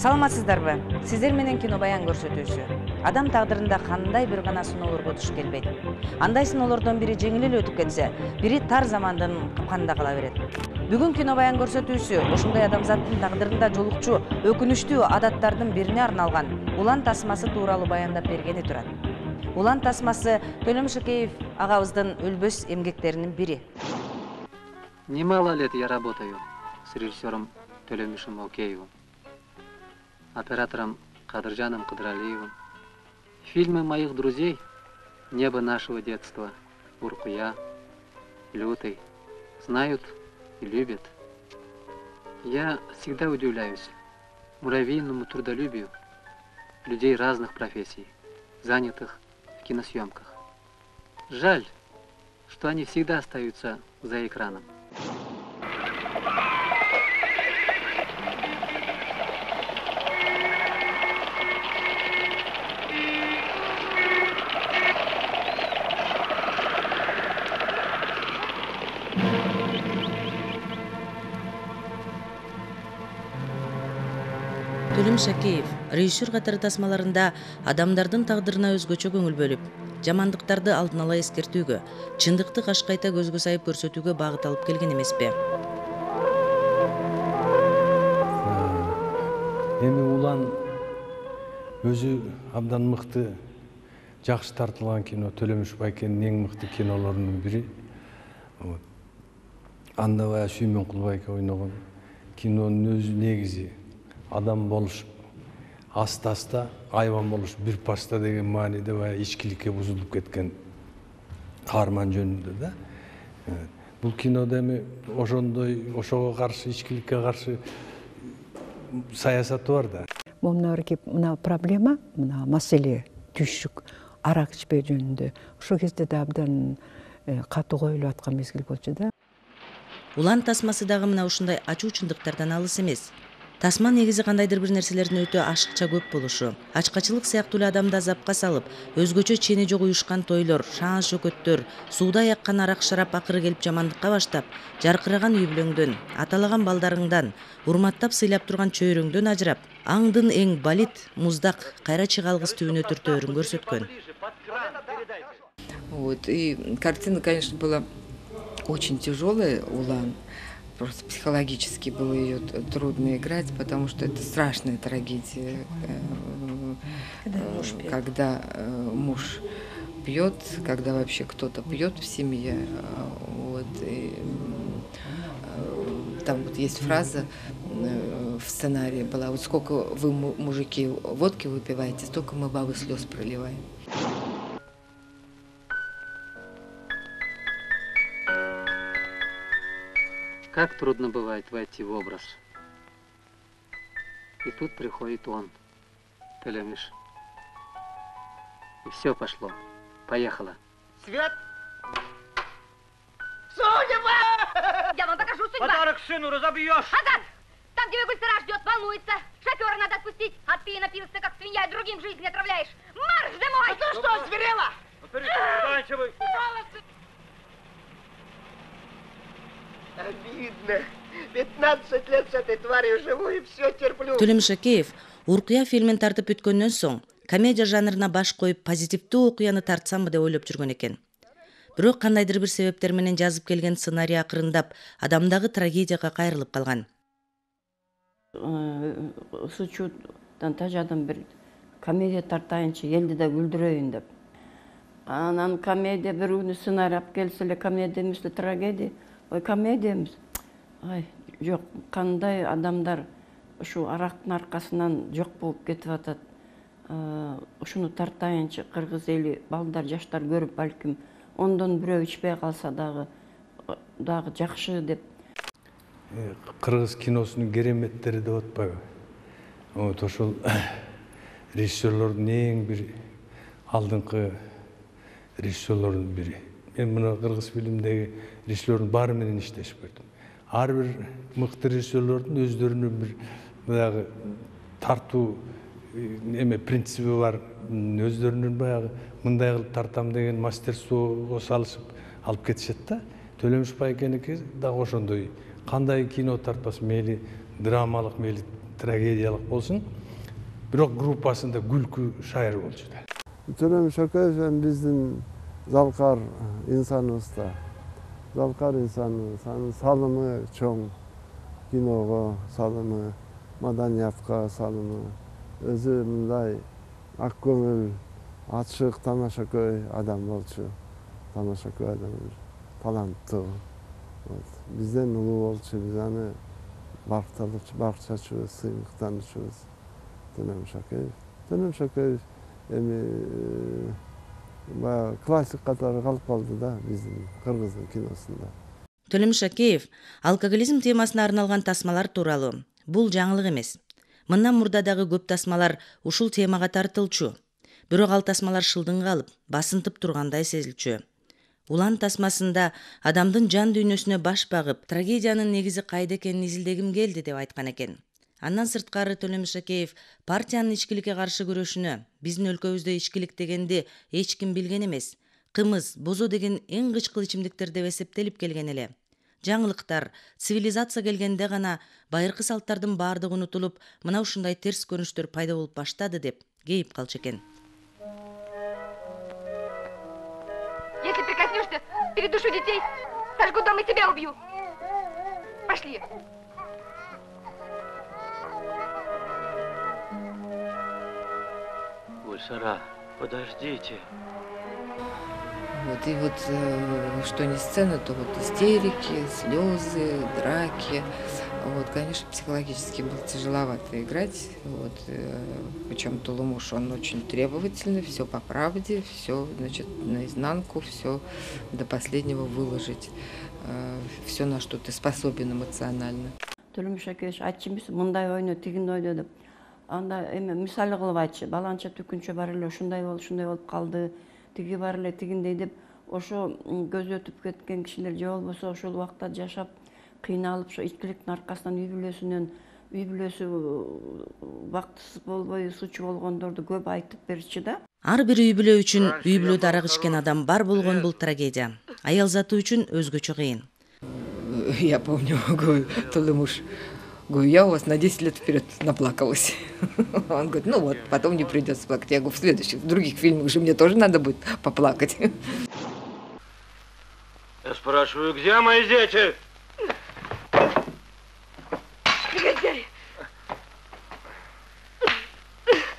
Саламатсыздарбы? Сиздер менен кино баян көрсөтүүсү. Адам тагдырында кандай бир гана сыноолорго туш келбейт. Андай сыноолордон бири жеңил эле өтүп кетсе, бири тар замандын капканында кала берет. Бүгүн кино баян көрсөтүүсү ошондой адамзаттын тагдырында жолукчу өкүнүчтүү адаттардын бирине арналган улан тасмасы тууралуу баяндап бергени турат. Улан тасмасы Төлөм Шакеев агабыздын өлбөс эмгектеринин бири. Немало лет я работаю с режиссером Төлөмишем Океевым, оператором Кадыржаном Кыдыралиевым. Фильмы моих друзей «Небо нашего детства», «Уркуя», «Лютый» знают и любят. Я всегда удивляюсь муравейному трудолюбию людей разных профессий, занятых в киносъемках. Жаль, что они всегда остаются за экраном. Төлөм Шакеев режиссер катары тасмаларында адамдардын тагдырына өзгөчө көңүл бөлүп, жамандыктарды алдын ала эскертүүгө, чындыкты кашкайта көзгө сайып көрсөтүүгө багыт алып келген эмеспи? Эми улан өзү абдан мыкты, жакшы тартылган кино, Төлөмүш Байкенин эң мыкты кинолорунун бири. Анда баягы Сүймөн Кулбайке ойногон кинонун өзү негизи адам болуш, аста-аста айбан болуш бир паста деген мааниде баягы ичкиликке бузулуп кеткен каарман жөнүндө да. Бул кинодо эми ошого каршы, ичкиликке каршы саясаты бар да. Мына проблема, мына маселе түшүк, арак ичпөө жөнүндө ошол кезде да абдан катуу коюлуп аткан мезгил болчу да. Улан тасмасы дагы мына ушундай ачуу чындыктардан алыс эмес. Тасма негизи кандайдыр бир нерселердин өтө ашыкча көп болушу, ачкачылык сыяктуу эле адамды азапка салып, өзгөчө чени жок уюшкан тойлор, шаан шөкөттөр, сууда яккан арак шарап акыры келип жамандыкка баштап, жаркыраган үй бүлөңдөн, аталаган балдарыңдан, урматтап сыйлап турган чөйрөңдөн ажырап, аңдын эң балит, муздак, кайра чыгалгыс түбүнө түртөөрүн көрсөткөн. Вот, и картина, конечно, была очень тяжелая, Улан. Просто психологически было ее трудно играть, потому что это страшная трагедия, когда муж пьет, когда вообще кто-то пьет в семье. Вот, и там вот есть фраза в сценарии была: вот сколько вы, мужики, водки выпиваете, столько мы бабы слез проливаем. Как трудно бывает войти в образ. И тут приходит он, Төлөмиш. И все пошло. Поехала. Свет! Судьба! Я вам покажу судьба! Подарок сыну разобьешь! Азат! Там, где Гульсара ждет, волнуется. Шофера надо отпустить. Отпей, напился, как свинья, и другим жизнь отравляешь. Марш домой! А ты что, зверела? Заканчивай! Обидно. 15 лет с этой тварью живу и все терплю. Төлөм Шакеев Уркуя фильмин тартып бүткөндөн соң комедия жанрына баш коюп позитивдүү окуяны тартсамбы деп ойлоп жүргөн экен. Бирок кандайдыр бир себептер менен жазып келген сценарий акырындап адамдагы трагедияга кайрылып калган. Сучудан тажадым бир комедия тартайынчы, элди да күлдүрөйүн деп. Анан комедия бир күнү сценарий алып келсе эле комедия эмес, трагедия. Ой, комедия эмес. Ай, жок, кандай адамдар ушу арактын аркасынан жок болуп кетип атат. Ушуну тартайынчы, кыргыз эли, балдар, жаштар көрүп, балким ондон бирөө ичпей калса дагы жакшы деп. Кыргыз киносунун кереметтери деп атпайбы? Вот ошол режиссерлордун эң бир алдыңкы режиссерлордун бири. Мен мына кыргыз фильмдеги режиссерлордун баары менен иштешип көрдүм. Ар бир мыкты режиссерлордун өздөрүнүн бир баягы тартуу принциби бар, өздөрүнүн баягы мындай кылып тартам деген мастерствого салышып алып кетишет да. Төлөмүш Байкеники дагы ошондой. Кандай кино тартпас, мейли драмалык, мейли трагедиялык болсун, бирок группасында күлкү шайыр болчу да. Төлөм Шөкеев биздин залкар инсаныбызда. Залкар инсаныбыз, анын салымы чоң, киного салымы, маданиятка салымы, өзү мындай ак көңүл, ачык, тамашакөй адам болчу. Тамашакөй адам, таланттуу. Бизден улуу болчу, биз аны баркчачубуз, сыймыктанчубуз. Төлөм Шөкеев. Төлөм Шөкеев эми классик катары калып калды да биздин кыргыздын киносунда. Төлөм Шөкеев алкоголизм темасына арналган тасмалар тууралуу. Бул жаңылык эмес. Мындан мурда дагы көп тасмалар ушул темага тартылчу. Бирок ал тасмалар шылдың калып, басынтып тургандай сезилчү. Улан тасмасында адамдын жан дүйнөсүнө баш багып, трагедиянын негизи кайда экенин изилдегим келди деп айткан экен. Андан сырткары Төлөм Шөкеев партиянын ичкиликке каршы күрөшүнө, биздин өлкөбүздө ичкилик дегенди эч ким билген эмес, кымыз, бозо деген эң кычкыл ичимдиктер деп эсептелип келген эле. Жаңылыктар, цивилизация келгенде гана байыркы салттардын баардыгы унутулуп, мына ушундай терс көрүнүштөр пайда болуп баштады деп кейип калчу экен. Если прикоснешься, передушу детей, сожгу дом и тебя убью. Пошли. Гульсара, подождите. Вот, и вот что не сцена, то вот истерики, слезы, драки. Вот, конечно, психологически было тяжеловато играть. Вот, причем Тулумуш, он очень требовательный, все по правде, все, значит, наизнанку, все до последнего выложить. Все, на что ты способен эмоционально. Төлөм Шөкеев айтчымыз мындай ойну, тигин ойну деп. Анда эме мисалы кылып айтчы, баланча түкүнчө бар эле ушундай болуп калды, тиги бар эле тигиндей деп, ошо көзү өтүп кеткен кишилер же болбосо ошол убакта жашап кыйналып, ошо ичкиликтин аркасынан үй бүлөсү бактысыз болбой суучу болгондорду көп айтып берчү да. Ар бир үй бүлө үчүн үй бүлөдө арак ичкен адам бар болгон бул трагедия. Аял заты үчүн өзгөчө кыйын. Я помню, говорю, Тулумуш, говорю, я у вас на 10 лет вперед наплакалась. Он говорит, ну вот, потом не придется плакать. Я говорю, в других фильмах же мне тоже надо будет поплакать. Я спрашиваю, где мои дети? Негодяй!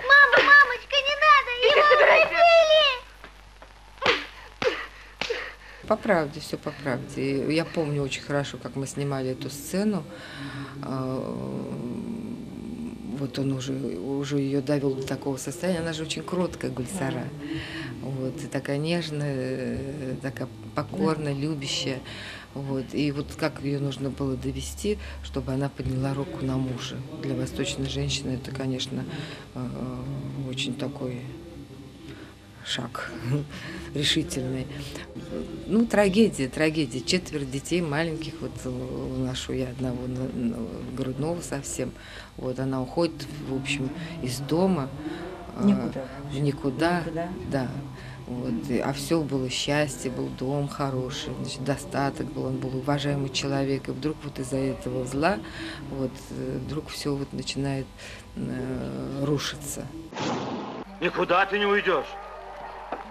Мамочка, не надо! Его убили! По правде, все по правде. Я помню очень хорошо, как мы снимали эту сцену. Вот он уже ее довел до такого состояния. Она же очень кроткая, Гульсара. Вот, и такая нежная, такая покорная, любящая. Вот, и вот как ее нужно было довести, чтобы она подняла руку на мужа. Для восточной женщины это, конечно, очень такой шаг решительный. Ну, трагедия. 4 детей маленьких. Вот ношу я одного грудного совсем. Вот она уходит, в общем, из дома. Никуда. Да. Вот, а все было счастье, был дом хороший, значит, достаток был, он был уважаемый человек. И вдруг вот из-за этого зла, вот, вдруг все вот начинает рушиться. Никуда ты не уйдешь.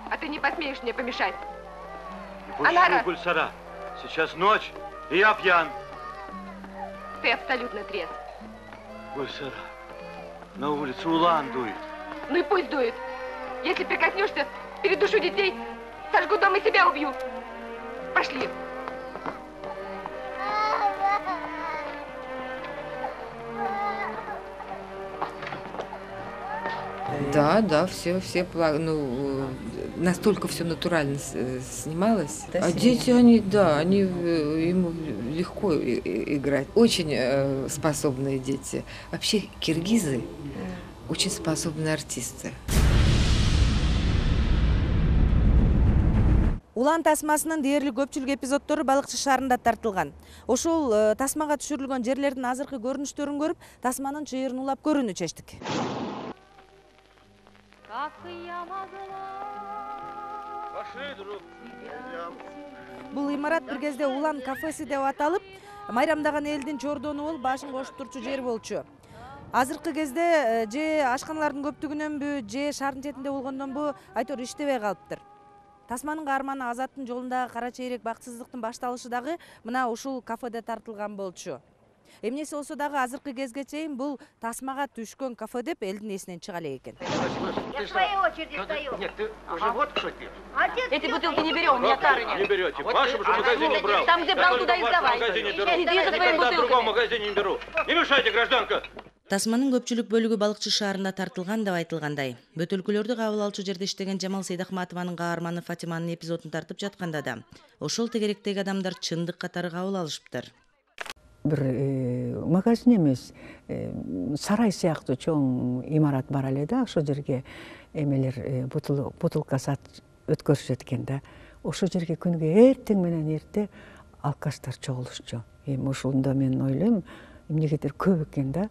А ты не посмеешь мне помешать. Не пущу, Гульсара. Сейчас ночь, и я пьян. Ты абсолютно трезв. Гульсара, на улице улан дует. Ну и пусть дует. Если прикоснешься, передушу детей, сожгу дом и себя убью. Пошли. Да, все, ну, настолько все натурально снималось. Да, а дети, они им легко играть. Очень способные дети. Вообще киргизы очень способные артисты. Улан тасмасынын дээрлик көпчүлүк эпизоддору Балыкчы шаарында тартылган. Ошол тасмага түшүрүлгөн жерлердин азыркы көрүнүштөрүн көрүп, тасманын чыйырын улап көрүүнү чечтик. Бул имарат бир кезде Улан кафеси деп аталып, майрамдаган элдин чордону болуп, башын кошуп турчу жер болчу. азыркы кезде же ашканалардын көптүгүнөнбү же шаардын четинде болгондонбу айтор иштебей калыптыр. Тасманын каарманы Азаттын жолундагы кара чейрек бакытсыздыктын башталышы дагы мына ушул кафеде тартылган болчу. Эмнеси болсо дагы азыркы кезге чейин бул тасмага түшкөн кафе деп элдин эсинен чыга элек экен. Я в своей очереди стою. Нет, ты уже вот что ты. Эти бутылки не берем, у меня тары нет. Не берете. В вашем же магазине брал. Там, где брал, туда и сдавай. Иди за твоими бутылками. В другом магазине не беру. Не мешайте, гражданка. Тасманын көпчүлүк бөлүгү балыкчы шаарында тартылган деп айтылгандай. Бөтөлкөлөрдү кабыл алчу жерде иштеген Жамал Сейдахматованын каарманы Фатиманын эпизодун тартып жатканда да ошол тегеректеги адамдар чындык катары кабыл алышыптыр. Бир магазин эмес, сарай сыяктуу чоң имарат бар эле да, ошол жерге эмелер бутылка өткөрүшөт экен да. Ошол жерге күнүгө эртең менен эрте алкаштар чогулушчу. Эми ошондо мен ойлойм, эмнегедир көп экен да.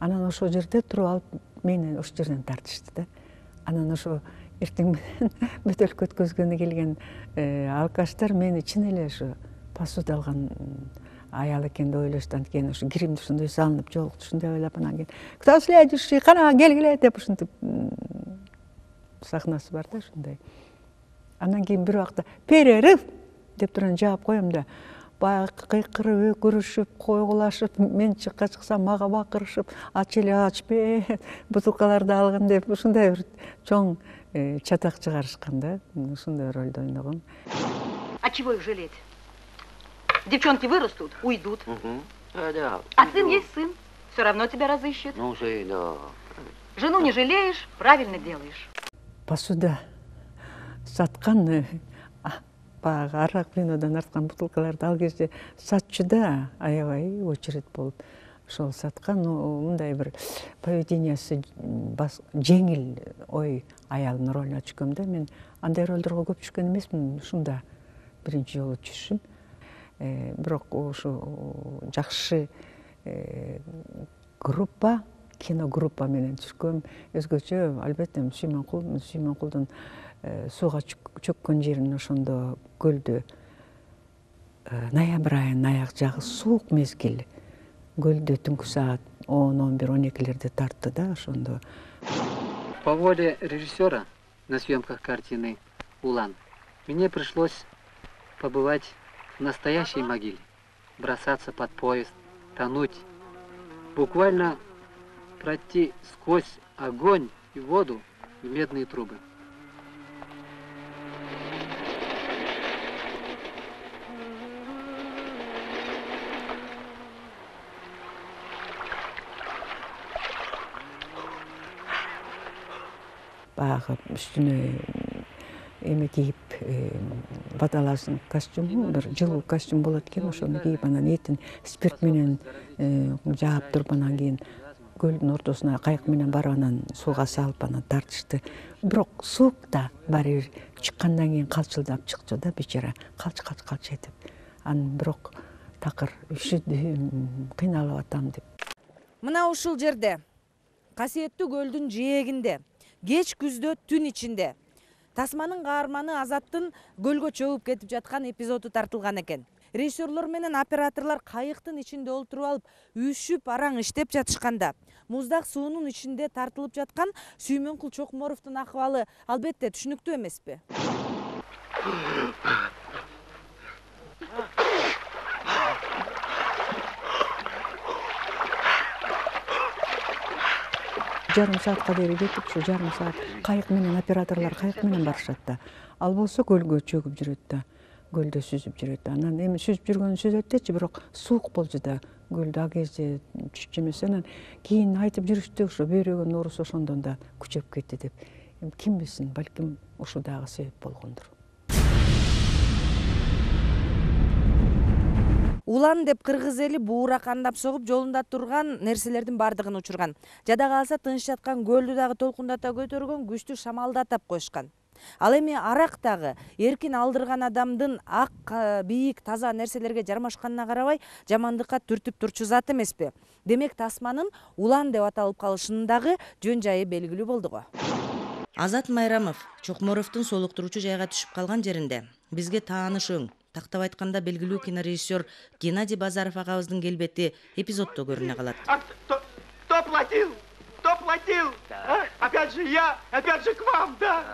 Анан ошол жерде туруп алып мени ошол жерден тартышты да. Анан ошо эртең менен бөтөлкө өткөзгөнү келген алкаштар мени чын эле ошо посуда алган аял экен деп ойлошту. Анткени ошо киримди ушундай салынып жолукту, ушундай ойлоп анан кийин кто следующий, кана келгиле деп ушинтип сахнасы бар да ушундай. Анан кийин бир убакта перерыв деп туран жаап коем да, баягы кыйкырып, өкүрүшүп, койгулашып, мен чыксам мага бакырышып, ач эле ачпе, бутылкаларды алгын деп ушундай бир чоң чатак чыгарышкан да. Ушундай ролду ойногом. А чего их жалеть? Девчонки вырастут, уйдут. Да. А сын есть сын. Все равно тебя разыщет. Ну, да. Жену не жалеешь, правильно делаешь. Посуда саткан баягы арак винодан арткан бутылкаларды ал кезде сатчу да, аябай очередь болуп ошол саткан. Мындай бир поведениясы жеңил ой аялдын ролуна түшкөм да. Мен андай ролдорго көп түшкөн эмесмин, ушунда биринчи жолу түшүшүм. Бирок ушу жакшы группа, киногруппа менен түшкөм. Өзгөчө албетте Сүймөнкулдун сууга чөккөн жерин ошондо көлдө ноябрь айынын аяк жагы суук мезгил. Көлдө түнкү саат 10-11-12 тартты да ошондо. По воле режиссера на съемках картины «Улан» мне пришлось побывать в настоящей могиле, бросаться под поезд, тонуть, буквально пройти сквозь огонь и воду в медные трубы. Баягы үстүнө эме кийип, баталасын костюму, бир жылуу костюм болот экен, ошону кийип, анан этин спирт менен жаап туруп, анан кийин көлдүн ортосуна кайык менен барып, анан сууга салып, анан тартышты. Бирок суук да баары бир чыккандан кийин калчылдап чыкчу да, бечара, калч этип. Анан бирок такыр үшүдүм, кыйналып атам деп. Мына ушул жерде, касиеттүү көлдүн жээгинде, кеч күздө түн ичинде Тасманын каарманы Азаттын көлгө чөгүп кетип жаткан эпизоду тартылган экен. Режиссерлор менен операторлор кайыктын ичинде олтуруп алып, үшүп араң иштеп жатышканда, муздак суунун ичинде тартылып жаткан Сүймөнкул Чокморовдун акыбалы албетте түшүнүктүү эмеспи? Жарым саатка бери кетип, ушу жарым саат кайык менен операторлор кайык менен барышат да. Ал болсо көлгө чөгүп жүрөт да, көлдө сүзүп жүрөт да. Анан эми сүзүп жүргөнү сүзөт дечи, бирок суук болчу да, көлдө ал кезде түшчү эмес. Анан кийин айтып жүрүштү, ошо бөйрөгөн оорусу ошондон да күчөп кетти деп. Эми ким билсин, балким ушул дагы себеп болгондур. Улан деп кыргыз эли буура кандап согуп жолунда турган нерселердин бардыгын учурган. Жада калса тыныч жаткан көлдү дагы толкундата көтөргөн күчтүү шамалды атап коюшкан. Ал эми арак дагы эркин алдырган адамдын ак, бийик, таза нерселерге жармашканына карабай жамандыкка түртүп турчу зат эмеспи? Демек Тасманын Улан деп аталып калышынын дагы жөн жайы белгилүү болду го. Азат Майрамов Чокморовдун солуктуруучу жайга түшүп калган жеринде бизге тааныш өң, тактап айтканда белгилүү кинорежиссер Геннадий Базаров агабыздын келбети эпизоддо көрүнө калат. Кто платил? Кто платил? Да. Опять же я, опять же к вам, да.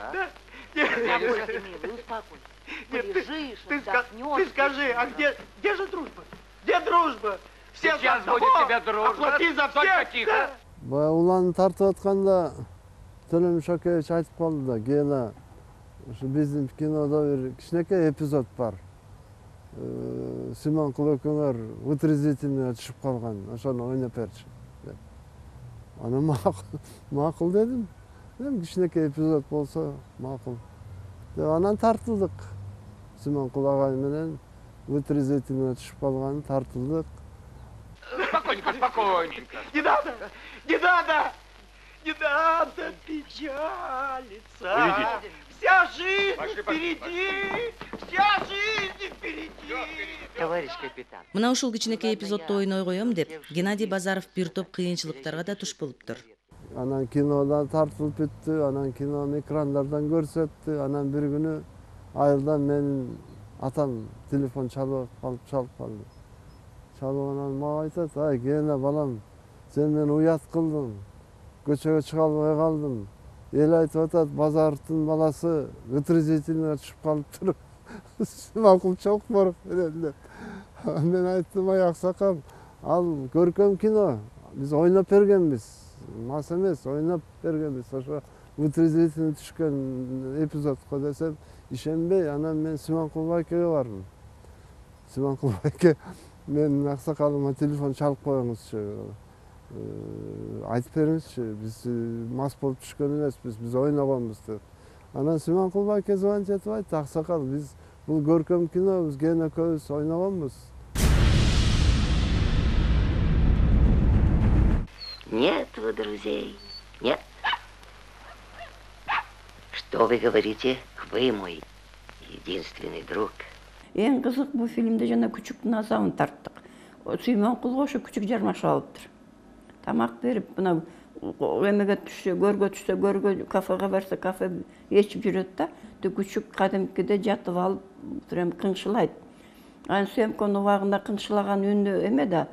Успокойся, милый, успокойся. Полежишь, Ты отдохнешь. скажи, а где же дружба? Где дружба? Все Сейчас за будет одного, тебе дружба. оплати за Только всех. тихо. Да. Баягы уланы тартып атканда Төлөмүш Акевич айтып калды да, кийин ушу биздин кинодо бир кичинекей эпизод бар. Симонкул экөөңөр вытрезвительныйга түшүп калган, ошону ойноп берчи деп. Аны макул дедим. Кичинекей эпизод болсо макул. Деп анан тартылдык. Симонкул агай менен вытрезвительныйга түшүп калган, тартылдык. Спокойненько, спокойненько. Не надо, не надо, не надо печалиться. Уйдите. Вся жизнь Пошли, впереди, вся жизнь впереди. Товарищ капитан. Мына ушул кичинекей эпизодду ойной коем деп Геннадий Базаров бир топ кыйынчылыктарга да туш болуптур. Анан кинодан тартылып бүттү, анан кинону экрандардан көрсөттү, анан бир күнү айылдан менин атам телефон чалып калды. Чалып мага айтат, ай Гена балам, сен мени уят кылдың, көчөгө чыга албай калдым. Эл айтып атат, Базаровдун баласы вытрезвительныйга түшүп калыптыр. Макул Чокморов менен деп. Мен айттым, ай аксакал, ал көркөм кино, биз ойноп бергенбиз. Мас эмес, ойноп бергенбиз. Ошо вытрезвительный түшкөн эпизодко десем, ишенбей, анан мен Симонкул байкеге бардым. Симонкул байке, менин аксакалыма телефон чалып коюңузчу. Айтып бериңизчи, биз мас болуп түшкөн эмеспиз, биз ойногонбуз деп. Анан Симонкул байке звонить этип айтты, аксакал, биз бул көркөм кино, биз Гена экөөбүз ойногонбуз. Нет вы друзей, нет. Что вы говорите? Вы мой единственный друг. Эң кызык бул фильмде жана күчүктүн азабын тарттык. Симонкулга ошо күчүк жармашып алыптыр. Тамак берип, мына эмеге түшсө, көргө, кафеге барса, кафе ичип жүрөт да, күчүк кадимкиде жатып алып, прям кыңшылайт. Анан съемканын убагында кыңшылаган үнү эме да,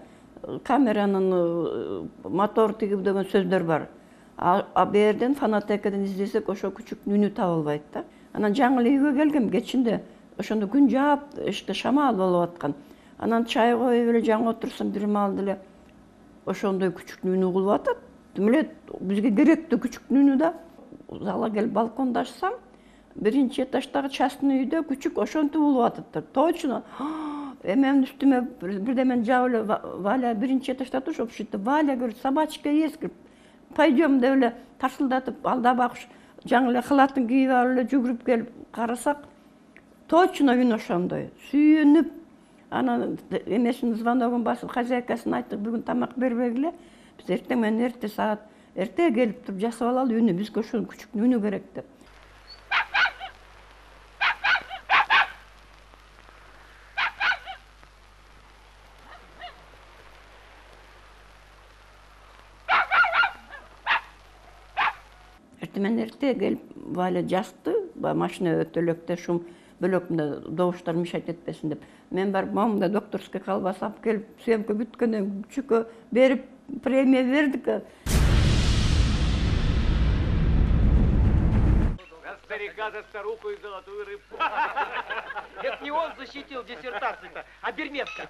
камеранын мотор тигип деген сөздөр бар. А берден фонотекаден издесек, ошо күчүктүн үнү табылбайт да. Анан жаңы эле үйгө келгем кечинде, ошондо күн жаап, эшикте шамал болуп аткан. Анан чай коюп эле жаңы отурсам, бир маалда эле ошондой күчүктүн үнү угулуп атат. Демеле бизге керектүү күчүктүн үнү да. Зала келип балконда ачсам, биринчи этаждагы частный үйдө күчүк ошентип улуп атыптыр. Точно. Менин үстүмө бирдемен жаап эле Валя биринчи этажда туруп ушинтип Валя көрүп, собачка эскирип, пойдем деп эле тарсылдатып алдабак жаңы эле халатын кийип алып эле жүгүрүп келип карасак, точно үн ошондой. Сүйүнүп, анан эмесин звоногун басып, хозяйкасына айттык, бүгүн тамак бербегиле. Биз эртең менен эрте саат эрте келип туруп жасап алалы үнү, бизге ошол күчүктүн үнү керек деп. Мен эрте келип Валя жасты, машина өтөлөктө шум бөлөкүндө добуштар мешать этпесин деп. Мен барып момунда докторский колбаса алып келип, съемка бүткөндөн күчүккө берип, премия бердик. Старика за старуху и золотую рыбку. Это не он защитил диссертацию-то, а Берметка.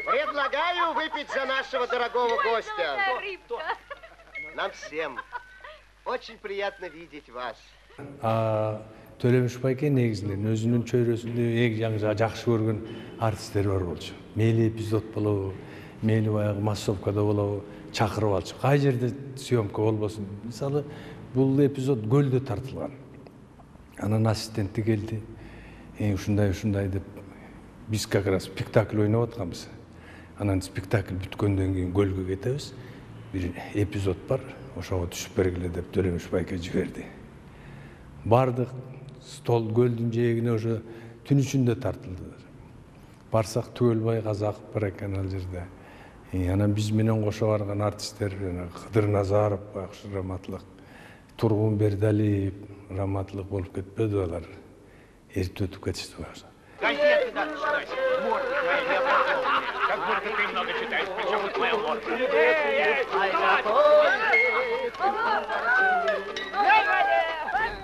Предлагаю выпить за нашего дорогого гостя. Нам всем. Очень приятно видеть вас. Төлөмүш байке негизинен өзүнүн чөйрөсүндө эң жакшы көргөн артисттер бар болчу. Мейли эпизод болобу, мейли баягы массовкада болобу, чакырып алчу. Кай жерде съемка болбосун. Мисалы, бул эпизод көлдө тартылган. Анан ассистенти келди. Ушундай деп биз как раз спектакль ойноп атканбыз. Анан спектакль бүткөндөн кийин көлгө кетебиз. Бир эпизод бар. Ошого түшүп бергиле деп Төлөмүш байке жиберди. Бардык, стол көлдүн жээгине ошо түн ичинде тартылды. Барсак Түгөлбай Казаков бар экен ал жерде. Анан биз менен кошо барган артисттер Кыдыр Назаров, Акшы Раматлык, Тургун Бердалиев, Раматлык болуп кетпеди алар. Эртип өтүп кетишти. Газеты надо читать, морды твои, как Только ты много читаешь, причем тут моя лодка.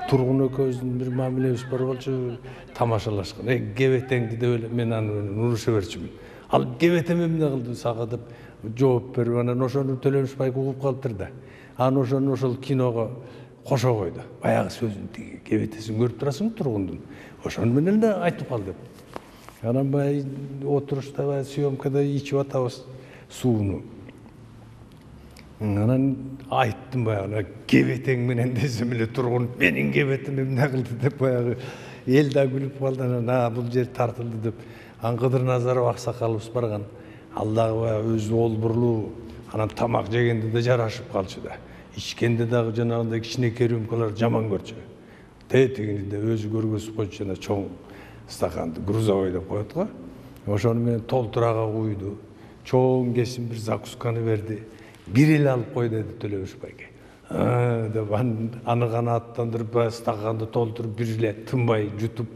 Тургун экөөбүздүн бир мамилебиз бар болчу, тамашалашкан. Кебетеңди деп эле мен аны уруша берчүмүн. Ал кебетем эмне кылды сага деп жооп берип, анан ошону Төлөмүш байке угуп калыптыр да. Анан ошону ошол киного кошо койду. Баягы сөзүн тиги кебетесин көрүп турасың тургундун. Ошону менен да айтып кал деп. Анан баягы отурушта баягы съемкада ичип атабыз сууну. Анан айттым баягы кебетең менен десем эле тургун менин кебетим эмне кылды деп баягы эл да күлүп калды. Анан бул жер тартылды деп. Анан Кыдыр Назаров аксакалыбыз барган. Ал дагы баягы өзү олбурлуу, анан тамак жегенде да жарашып калчу да. Ичкенде дагы жанагындай кичинекей рюмкалар жаман көрчү. Тетигинде өзү көргөзүп койчу, жана чоң стаканды грузовой деп коет го. Ошону менен толтурага куйду. Чоң кесим бир закусканы берди. Бир эле алып кой деди Төлөмүш байке. Деп аны гана аттандырып, стаканды толтуруп бир эле тынбай жутуп,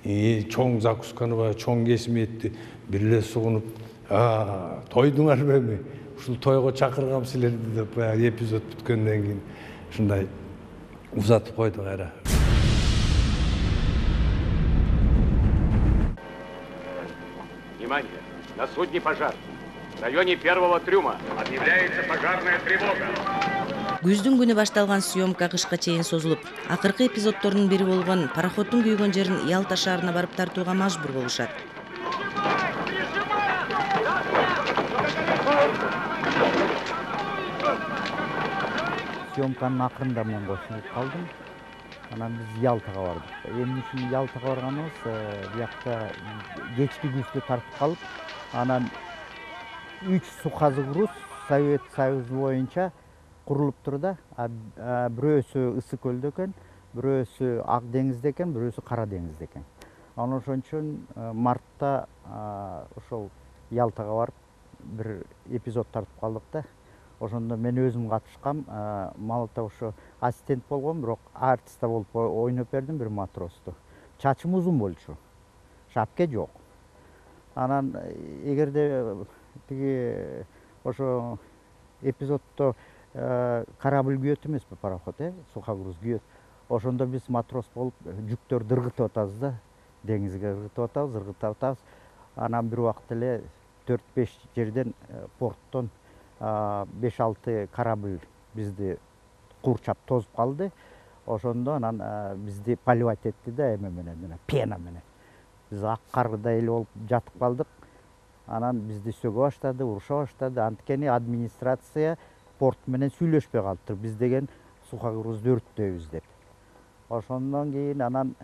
чоң закусканы баягы чоң кесим этти бир эле сугунуп, тойдуңарбы эми? Ушул тойго чакыргам силерди деп баягы эпизод бүткөндөн кийин ушундай узатып койду кайра. Внимание! На судне пожар. В районе первого трюма объявляется пожарная тревога. Күздүн күнү башталган съемка кышка чейин созулуп, акыркы эпизоддордун бири болгон пароходдун күйгөн жерин Ялта шаарына барып тартууга мажбур болушат. Съемканын акырында мен кошулуп калдым. Анан биз Ялтага бардык. Эмне үчүн Ялтага барганыбыз, биякта кечки күздө тартып калып, анан 3 су казы груз Совет Союзу боюнча курулуптур да. Бирөөсү Ысык көлдө экен, бирөөсү Ак деңизде экен, бирөөсү Кара деңизде экен. Анан ошон үчүн мартта ошол Ялтага барып бир эпизод тартып калдык да. Ошондо мен өзүм катышкам, малата ошо ассистент болгом, бирок артиста болуп ойноп бердим бир матросту. Чачым узун болчу. Шапке жок. Анан эгерде тиги ошо эпизоддо корабль күйөт эмеспи, пароход, сухогруз күйөт. Ошондо биз матрос болуп жүктөрдү ыргытып атабыз да, деңизге ыргытып атабыз. Анан бир убакта эле 4-5 жерден порттон 5-6 корабль бизди курчап тозуп калды. Ошондо анан бизди поливать этти да, эме менен, пена менен. Биз ак каргыдай эле болуп жатып калдык. Анан бизди сөгө баштады, уруша баштады. Анткени администрация порт менен сүйлөшпөй калыптыр. Биз деген сухогрузду өрттөйбүз деп. Ошондон кийин анан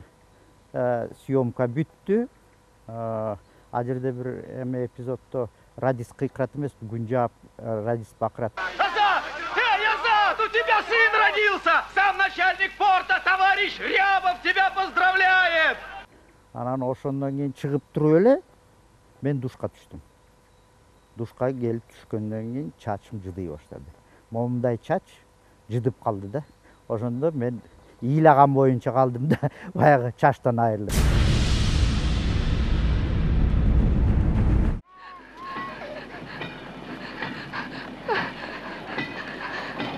съемка бүттү. А жерде бир эме эпизоддо радист кыйкырат эмеспи, күн жаап радист бакырат. Азат! Азат! У тебя сын родился! Сам начальник порта, товарищ Рябов, тебя поздравляет! Анан ошондон кийин чыгып туруп эле мен душка түштүм. Душка келип түшкөндөн кийин чачым жыдый баштады. Момундай чач жыдып калды да. Ошондо мен ыйлаган боюнча калдым да, баягы чачтан айрылып.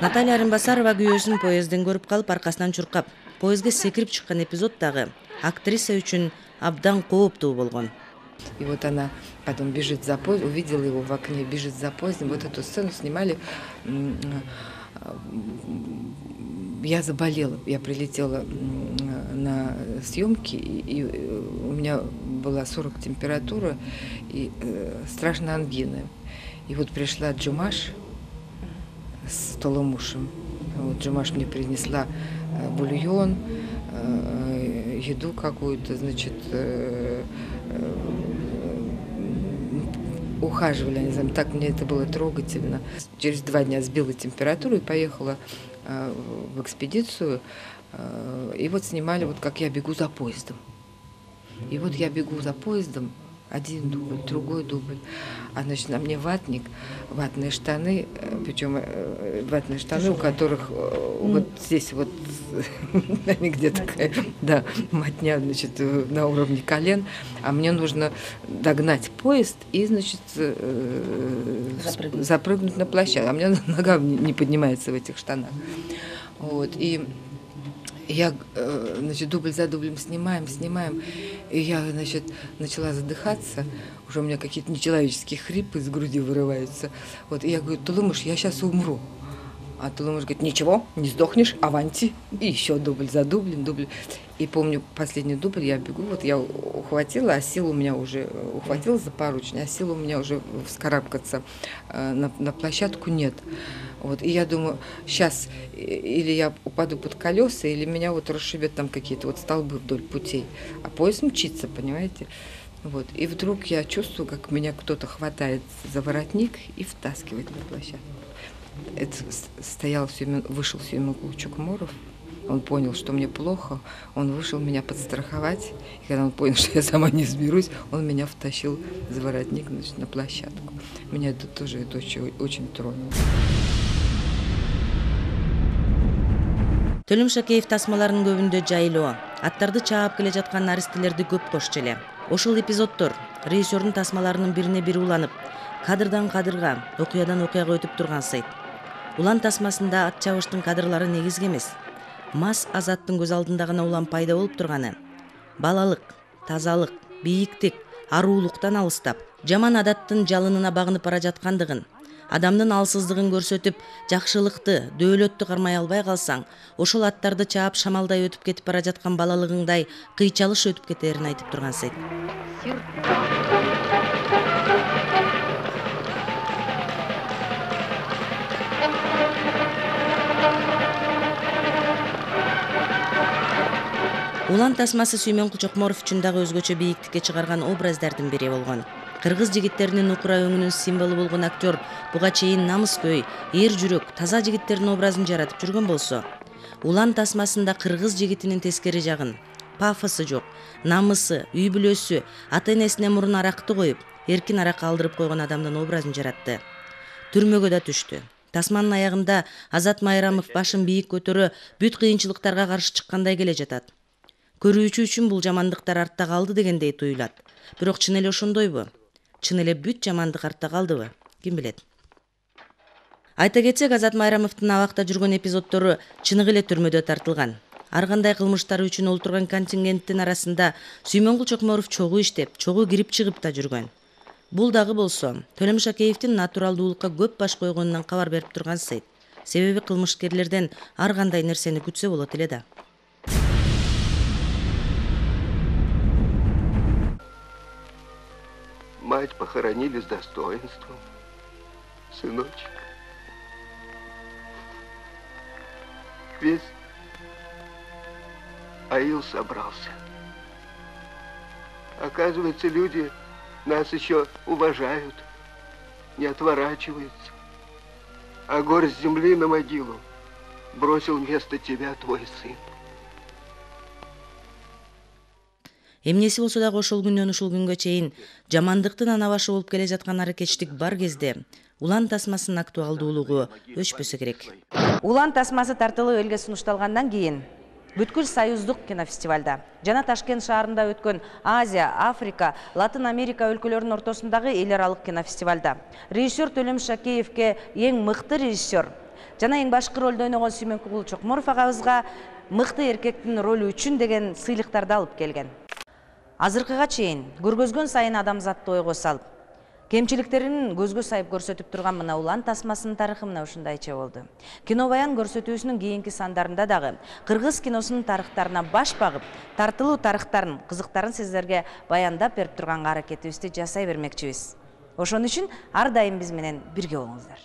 Наталья Арынбасарова күйөөсүн поездден көрүп калып, аркасынан чуркап, поездге секирип чыккан эпизод дагы актриса үчүн абдан кооптуу болгон. И вот она потом бежит за поездом, увидела его в окне, бежит за поездом. Вот эту сцену снимали. Я заболела, я прилетела на съемки, и у меня была 40 температура и страшная ангина. И вот пришла Джумаш с Толомушем. Вот Джумаш мне принесла бульон, еду какую-то, значит, ухаживали, не знаю, так мне это было трогательно. Через 2 дня сбила температуру и поехала в экспедицию. И вот снимали, вот как я бегу за поездом. И вот я бегу за поездом, Один дубль, другой дубль. А значит, на мне ватник, ватные штаны, причем ватные штаны, у которых вот здесь вот где-то такая, да, мотня, значит, на уровне колен, а мне нужно догнать поезд и, значит, запрыгнуть на площадку. А у меня нога не поднимается в этих штанах. Вот, и я, значит, дубль за дублем снимаем, и я, значит, начала задыхаться, уже у меня какие-то нечеловеческие хрипы из груди вырываются. Вот, и я говорю: Тулумыш, я сейчас умру. А Тулумыш говорит: ничего, не сдохнешь, аванти. И еще дубль за дублем, дубль. И помню, последний дубль я бегу, вот я ухватила, а сил у меня уже, ухватила за поручень, а сил у меня уже вскарабкаться на площадку нет. Вот, и я думаю, сейчас или я упаду под колеса, или меня вот расшибет там какие-то вот столбы вдоль путей. А поезд мчится, понимаете? Вот, и вдруг я чувствую, как меня кто-то хватает за воротник и втаскивает на площадку. Это стоял вышел Сюймунгул Чукморов. Он понял, что мне плохо, он вышел меня подстраховать. И когда он понял, что я сама не сберусь, он меня втащил за воротник, значит, на площадку. Меня это тоже очень тронуло. Төлөм Шакеев тасмаларынын көбүндө жайлоо, аттарды чаап келе жаткан наристелерди көп кошчу эле. Ошол эпизоддор режиссердун тасмаларынын бирине бири уланып, кадырдан кадырга, окуядан окуяга өтүп турган сайт. Улан тасмасында ат чабыштын кадрлары негизги эмес. Мас Азаттын көз алдында гана улам пайда болуп турганы. Балалык, тазалык, бийиктик, аруулуктан алыстап, жаман адаттын жалынына багынып бара жаткандыгын, адамдын алсыздыгын көрсөтүп, жакшылыкты, дөөлөттү кармай албай калсаң, ошол аттарды чаап шамалдай өтүп кетип бара жаткан балалыгыңдай кыйчалыш өтүп кетерин айтып турган сайт. Улан тасмасы Сүймөнкул Чокморов үчүн дагы өзгөчө бийиктикке чыгарган образдардын бири болгон. Кыргыз жигиттеринин укура өңүнүн символу болгон актер буга чейин намыскөй, эр жүрөк, таза жигиттердин образын жаратып жүргөн болсо, Улан тасмасында кыргыз жигитинин тескери жагын, пафосу жок, намысы, үй бүлөсү, ата-энесине мурун аракты коюп, эркин арак алдырып койгон адамдын образын жаратты. Түрмөгө да түштү. Тасманын аягында Азат Майрамов башын бийик көтөрө, бүт кыйынчылыктарга каршы чыккандай келе жатат. Көрүүчү үчүн бул жамандыктар артта калды дегендей туюлат. Бирок чын эле ошондойбу? Чын эле бүт жамандык артта калдыбы? Ким билет. Айта кетсек, Азат Майрамовдун абакта жүргөн эпизоддору чыныгы эле түрмөдө тартылган. Ар кандай кылмыштары үчүн олтурган контингенттин арасында Сүймөнкул Чокморов чогуу иштеп, чогуу кирип чыгып да жүргөн. Бул дагы болсо, Төлөм Шакеевдин натуралдуулукка көп баш койгонунан кабар берип турган сайт. Себеби кылмышкерлерден ар кандай нерсени күтсө болот эле да. Мать похоронили с достоинством, сыночек. Весь аил собрался. Оказывается, люди нас еще уважают, не отворачиваются. А горсть земли на могилу бросил вместо тебя твой сын. Эмнеси болсо дагы ошол күндөн ушул күнгө чейин жамандыктын ана башы болуп келе жаткан аракетчилик бар кезде Улан тасмасынын актуалдуулугу өчпөсө керек. Улан тасмасы тартылып элге сунушталгандан кийин бүткүл союздук кинофестивалда жана Ташкент шаарында өткөн Азия, Африка, Латын Америка өлкөлөрүнүн ортосундагы эл аралык кинофестивалда режиссер Төлөм Шакеевке эң мыкты режиссер жана эң башкы ролдо ойногон Сүймөнкул Чокморов агабызга мыкты эркектин ролу үчүн деген сыйлыктарды алып келген. Азыркыга чейин көргөзгөн сайын адамзатты ойго салып, кемчиликтерин көзгө сайып көрсөтүп турган мына Улан тасмасынын тарыхы мына ушундайча болду. Кинобаян көрсөтүүсүнүн кийинки сандарында дагы кыргыз киносунун тарыхтарына баш багып, тартылуу тарыхтарын, кызыктарын сиздерге баяндап берип турганга аракетибизди жасай бермекчибиз. Ошон үчүн ар дайым биз менен бирге болуңуздар.